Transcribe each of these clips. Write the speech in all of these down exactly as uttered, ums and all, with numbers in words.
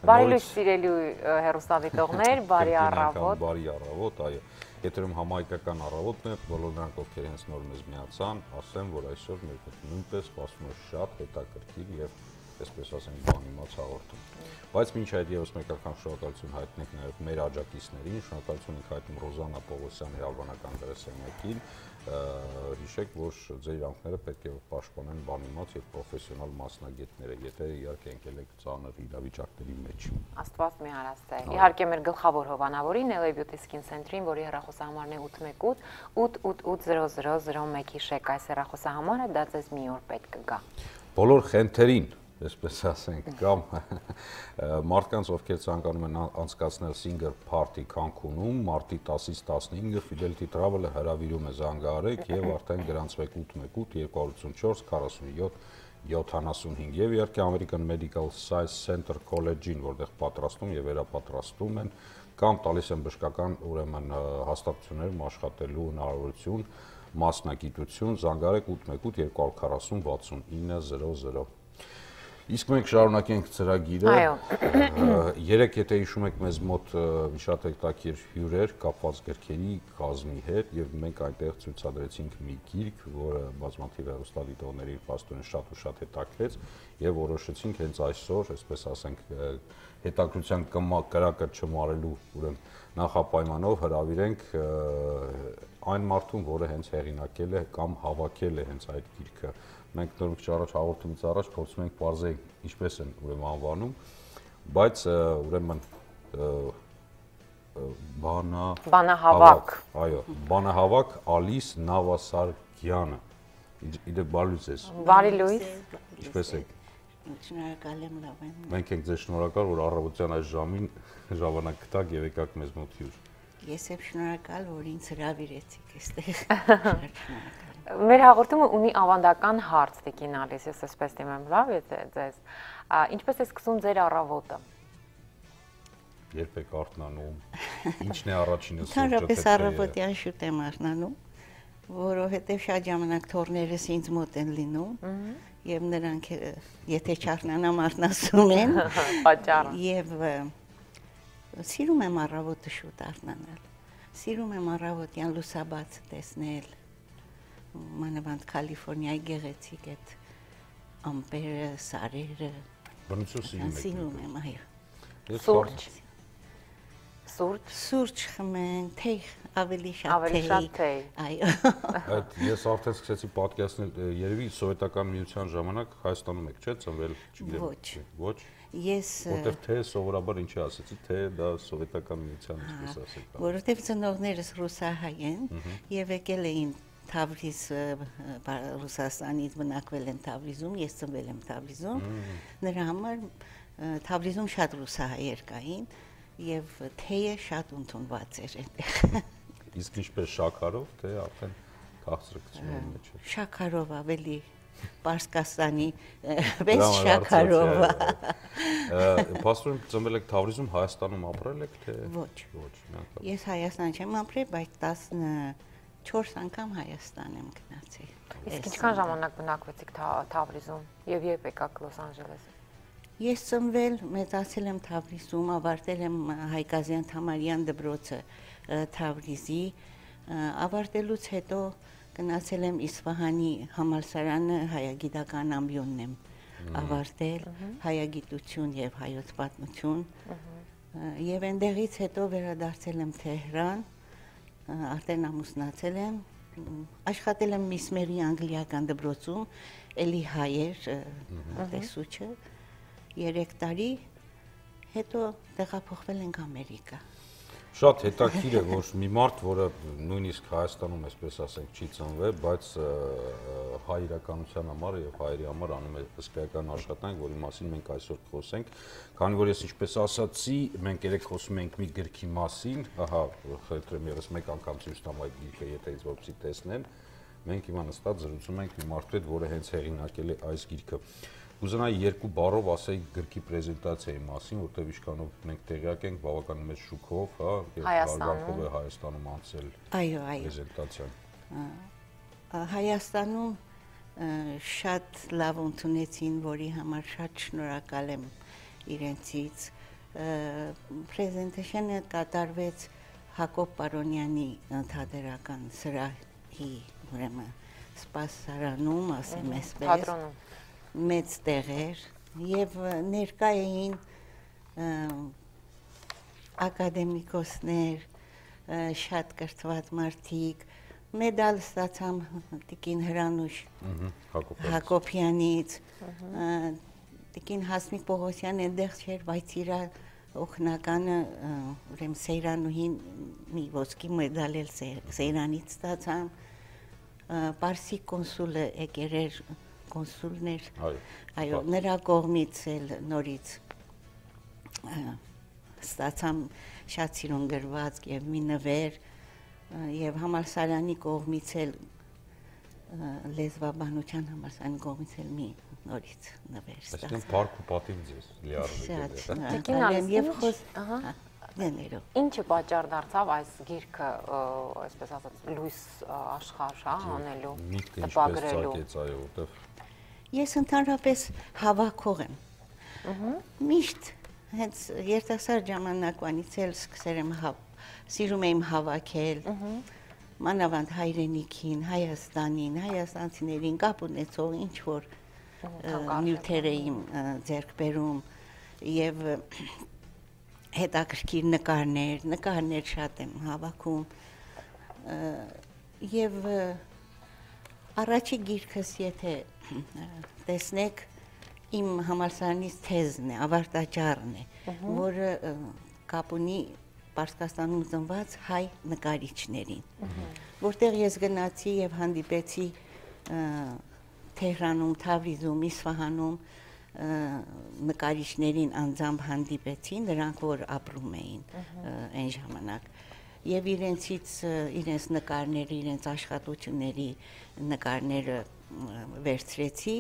Բարի լույս սիրելի հեռուստադիտողներ, բարի առավոտ։ Բարի առավոտ, այո։ Եթերում համահայկական առավոտն է, բոլոր նրանք, ովքեր հենց նոր մեզ միացան, ասեմ, որ այսօր մեր նույնպես սպասվում է շատ հետաքրքիր եւ այսպես ասենք բանիմաց հաղորդում։ Բայց մինչ այդ եւս մեկ անգամ շնորհակալություն հայտնենք նաեւ մեր աջակիցներին, շնորհակալություն ենք հայտնում Ռոզաննա Պողոսյանի հավանական դերասանյակին, հիշեք, որ ձեր իրավունքները պետք է պաշտպանեն բանիմաց եւ պրոֆեսիոնալ մասնագետները, եթե իհարկե ընկել եք ծանր իրավիճակների մեջ։ Աստված մի հարաստ է։ Իհարկե մեր գլխավոր հովանավորին L A Beauty Skin Center-ին, որի հեռախոսահամարն է ութ մեկ ութ ութ ութ ութ զրո զրո զրո մեկ հիշեք, այս հեռախոսահամարը դա ձեզ մի օր պետք կգա։ Բոլոր խնդրին այսպես ասենք, կամ մարդկանց, ովքեր ցանկանում են անցկացնել Singer Party Cancun-ում, մարտի տասից տասնհինգը Fidelity Travel-ը հրավիրում է, զանգահարեք եւ արդեն գրանցվեք ութ մեկ ութ երկու ութ չորս քառասունյոթ յոթանասունհինգ եւ իհարկե American Medical Science Center College-ին, որտեղ պատրաստում եւ վերապատրաստում են կամ տալիս են բժշկական ուրեմն հաստատություններում աշխատելու հնարավորություն, մասնագիտություն, զանգահարեք ութ մեկ ութ երկու քառասուն վաթսունինը զրո զրո։ Իսկ մենք շարունակենք ծրագիրը, երեք եթե հիշում եք մեզ մոտ շատ հետաքրքիր հյուրեր կապված գրքերի կազմի հետ եւ մենք այնտեղ ցույցադրեցինք մի գիրք, որը բազմաթիվ հեռուստադիտողների պաստորեն շատ ու շատ հետաքրեց եւ որոշեցինք հենց այսօր, այսպես ասենք, հետաքրության կրակը չմարելու ուրեմն նախապայմանով հրավիրենք այն մարդուն, որը հենց հեղինակել է կամ հավաքել է հենց այդ գիրքը։ Մենք նոր մի առաջ հաղորդումից առաջ փորձում ենք բարձել ինչպես են ուրեմն անվանում, բայց ուրեմն բանա բանահավաք, այո, բանահավաք Ալիս Նավասարգյանը։ Իդե բարի լույս։ Բարի լույս։ Ինչպես եք։ Շնորհակալ եմ, լավ եմ։ Մենք ենք ձեզ շնորհակալ, որ առավոտյան այս ժամին ժամանակ գտաք եւ եկաք մեզ մոտ հյուր։ Ես եմ շնորհակալ, որ ինձ հրավիրեցիք այստեղ։ Մեր հաղորդումը ունի ավանդական հարց, Տիկին Ալիս, ես այսպես դիմեմ, լավ է ձեզ։ Ինչպես է սկսում ձեր առավոտը։ Երբ եք արթնանում, ինչն է առաջինը սուրճը։ Ընդհանրապես առավոտյան շուտ եմ արթնանում, որովհետև շատ ժամանակ թորներս ինձ մոտ են լինում, եւ նրանք եթե չարթնանամ արթնացում են։ Պատճառը։ Եվ սիրում եմ առավոտը շուտ արթնանալ։ Սիրում եմ առավոտյան լուսաբացը տեսնել։ Մանավանդ Կալիֆոռնիայի գեղեցիկ այդ ամպերը, սարերը։ Բնություն սիրում եմ, այո։ Սուրճ։ Սուրճ։ Սուրճ խմեն, թեյ, ավելի շատ թեյ։ Ավելի շատ թեյ։ Այո։ Այդ ես արդեն սկսեցի պատկերացնել, երևի սովետական միության ժամանակ Հայաստանում եք, չէ՞, ծնվել, չգիտեմ։ Ոչ։ Ոչ։ Ես որտեղ թե սովորաբար ինչի ասեցի, թե դա սովետական միության ինչպես ասեք։ Որովհետև ծնողներս ռուսահայ են եւ եկել էին Թավրիզ, Ռուսաստանից բնակվել են Թավրիզում, ես ծնվել եմ Թավրիզում, նրա համար Թավրիզում շատ ռուսահայեր կային եւ թեյը շատ ընդունված էր այդտեղ։ Իսկ ինչպես շաքարով, թե արդեն քաղցրկցումի մեջ է։ Շաքարով ավելի Պարսկաստանի պես շաքարով։ Պաստորեն ծնվել եք Թավրիզում, Հայաստանում ապրել եք, թե Ոչ։ Ոչ, միանգամից։ Ես Հայաստան չեմ ապրել, բայց տասնչորս անգամ Հայաստան եմ գնացել։ Իսկ ինչքան ժամանակ բնակվեցիք Թավրիզում եւ երբ եկաք Լոս Անջելես։ Ես ծնվել, մեծացել եմ Թավրիզում, ավարտել եմ Հայկազյան Թամարյան դպրոցը Թավրիզի, ավարտելուց հետո գնացել եմ Իսվահանի համալսարանը, հայագիտական ամբիոնն եմ ավարտել, հայագիտություն եւ հայոց պատմություն, եւ այնտեղից հետո վերադարձել եմ Թեհրան, արդեն ամուսնացել եմ, աշխատել եմ Միսմերի անգլիական դպրոցում, էլի հայեր տեսուչը, երեք տարի, հետո տեղափոխվել ենք Ամերիկա։ Շատ հետաքրքիր է, որ մի մարդ, որը նույնիսկ Հայաստանում, այսպես ասենք, չի ծնվել, բայց հայ իրականության համար եւ հայերի համար անում է հսկայական աշխատանք, որի մասին մենք այսօր խոսենք, քանի որ ես ինչպես ասացի, մենք երեք խոսում ենք մի գրքի մասին, ահա, խնդրեմ եւս մեկ անգամ ցույց տամ այդ գրքը, եթե ինձ որպեսզի տեսնեն, մենք հիմա նստած զրուցում ենք մի մարդու հետ, որը հենց հեղինակել է այս գիրքը։ Կուզենայի երկու բառով ասեի գրքի պրեզենտացիայի մասին, որտեղ ինչքանով մենք տեղյակ ենք բավականին մեծ շուկով, հա, եւ հարգանքով է Հայաստանում անցել այո, այո, պրեզենտացիան։ Հայաստանում շատ լավ ընդունեցին, որի համար շատ շնորհակալ եմ իրենցից, Presentation-ը կատարվեց Հակոբ Պարոնյանի թատերական սրահի ուրեմն սպասարանում, ասեմ այսպես, թատրոնում, մեծ տեղեր եւ ներկա էին ակադեմիկոսներ, շատ կրթված մարդիկ, մեդալ ստացամ տիկին Հրանուշ Հակոբյանից, տիկին Հասմիկ Պողոսյան այնտեղ չէր, բայց իր օգնականը ուրեմն Սեյրանուհին մի ոսկի մեդալ էլ Սեյրանից ստացամ, Պարսի կոնսուլը եկել էր, կոնսուլներ, այո, նրա կողմից էլ նորից ստացամ շատ սիրուն գրվածք եւ մի նվեր եւ համալսարանի կողմից էլ լեզվաբանության համալսարանի կողմից էլ մի նորից նվեր ստացա։ Այսինքն парք ու պատիվ ձեզ լիարժեք է։ Եվ խոս, ահա, դներով։ Ինչը պատճառ դարձավ այս գիրքը, այսպես ասած, լույս աշխարհ, հա, անելու, տպագրելու։ Այո, որտեվ Ես ընդհանրապես հավաքող եմ։ Միշտ հենց երիտասարդ ժամանակվանից էլ սկսել եմ սիրում եմ հավաքել, մանավանդ հայրենիքին, Հայաստանին, հայաստանցիներին կապ ունեցող ինչ որ նյութեր եմ ձեռք բերում եւ հետաքրքիր նկարներ, նկարներ շատ եմ հավաքում եւ առաջի գիրքս եթե տեսնեք իմ համալսարանից թեզն է, ավարտաճառն է, որը կապ ունի Պարսկաստանում ծնված հայ նկարիչներին, որտեղ ես գնացի եւ հանդիպեցի Թեհրանում, Թավրիզում, Իսֆահանում նկարիչներին անձամբ հանդիպեցի, նրանք որ ապրում էին այն ժամանակ եւ իրենցից իրենց նկարները, իրենց աշխատությունների նկարները վերցրեցի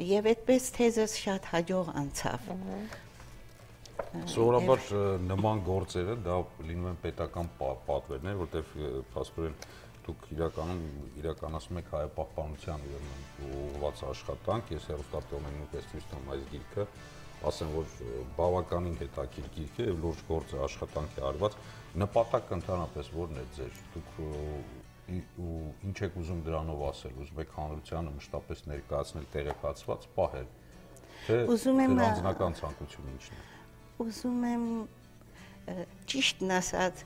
եւ այդպես թեզս շատ հաջող անցավ։ Սովորաբար նման գործերը դա լինում են պետական պատվերներ, որտեղ փաստորեն դուք իրականում իրականացնում եք հայապահպանության ուղղված աշխատանք, ես հեռուստատիտողներին նույնպես ցույց տամ այս գիրքը, ասեմ որ բավականին հետաքրքիր գիրք է եւ լուրջ գործ աշխատանք է արված, նպատակը ընդհանրապես ո՞րն է ձեր, դուք ու ինչ եք ուզում դրանով ասել, ուզում եք հանրությանը մշտապես ներկայացնել, տեղեկացված պահել, թե ձեր անձնական ցանկությունը ինչն է։ Ուզում եմ ճիշտն ասած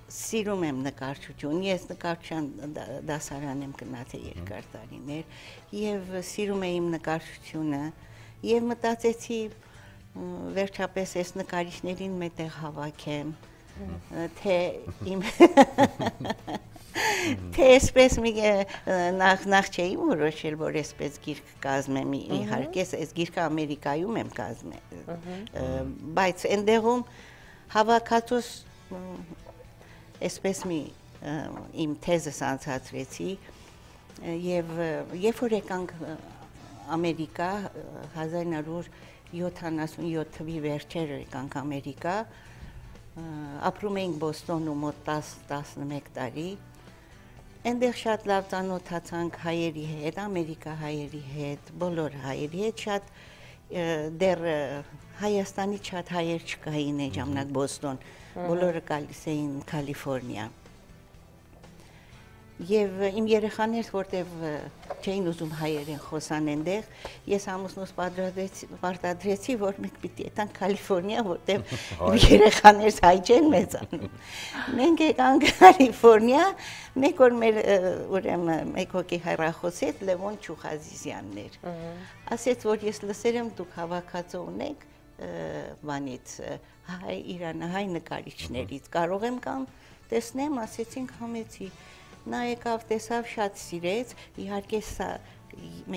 սիրում եմ նկարչություն, ես նկարչության դասարան եմ գնացել երկար տարիներ եւ սիրում եմ իմ նկարչությունը եւ մտածեցի վերջապես այս նկարիչներին մետեղ հավաքեմ, թե իմ թե այսպես մի նախ նախ չէի որոշել, որ այսպես գիրք կազմեմ, իհարկե այս գիրքը Ամերիկայում եմ կազմել, բայց այնտեղում հավաքածուս այսպես մի իմ թեզս անցածրեցի եւ երբ որ եկանք Ամերիկա հազար ինը հարյուր յոթանասունյոթ թվականի վերջերը եկանք Ամերիկա, ապրում էինք Բոստոնում մոտ տասնմեկ տարի, այնտեղ շատ լավ ծանոթացանք հայերի հետ, Ամերիկա հայերի հետ, բոլոր հայերի հետ, շատ դեռ Հայաստանից շատ հայեր չկային այն ժամանակ Բոստոն, բոլորը գալիս էին Կալիֆոռնիա։ Եվ իմ երեխաներս, որտեվ չէին ուզում հայերեն խոսան այնտեղ, ես ամուսնուս պարտադրեցի, որ մենք պիտի եթանք Կալիֆոռնիա, որտեվ իմ երեխաներս հայ չեն մեծանում։ Մենք եկանք Կալիֆոռնիա, մեկ օր մեր ուրեմն մեկ հոգի հեռախոսի հետ Լևոն Չուխազիզյանն էր։ Ասեց, որ ես լսել եմ դուք հավաքածու ունեք բանից հայ իրանահայ նկարիչներից, կարող եմ կամ տեսնեմ, ասեցինք համեցի, նա եկավ, տեսավ, շատ սիրեց, իհարկե սա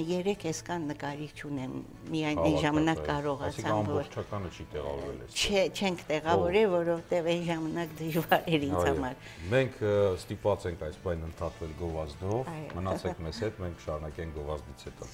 երեք էսկան նկարիչ ունեմ, միայն այն ժամանակ կարողացամ, որ ամբողջականը չի տեղավորվել էս։ Չէ, չենք տեղավորել, որովհետև այն ժամանակ դժվար էր ինձ համար։ Մենք ստիպված ենք այս բանը ընդհատվել գովազդով, մնացեք մեզ հետ, մենք շարունակենք գովազդից հետո։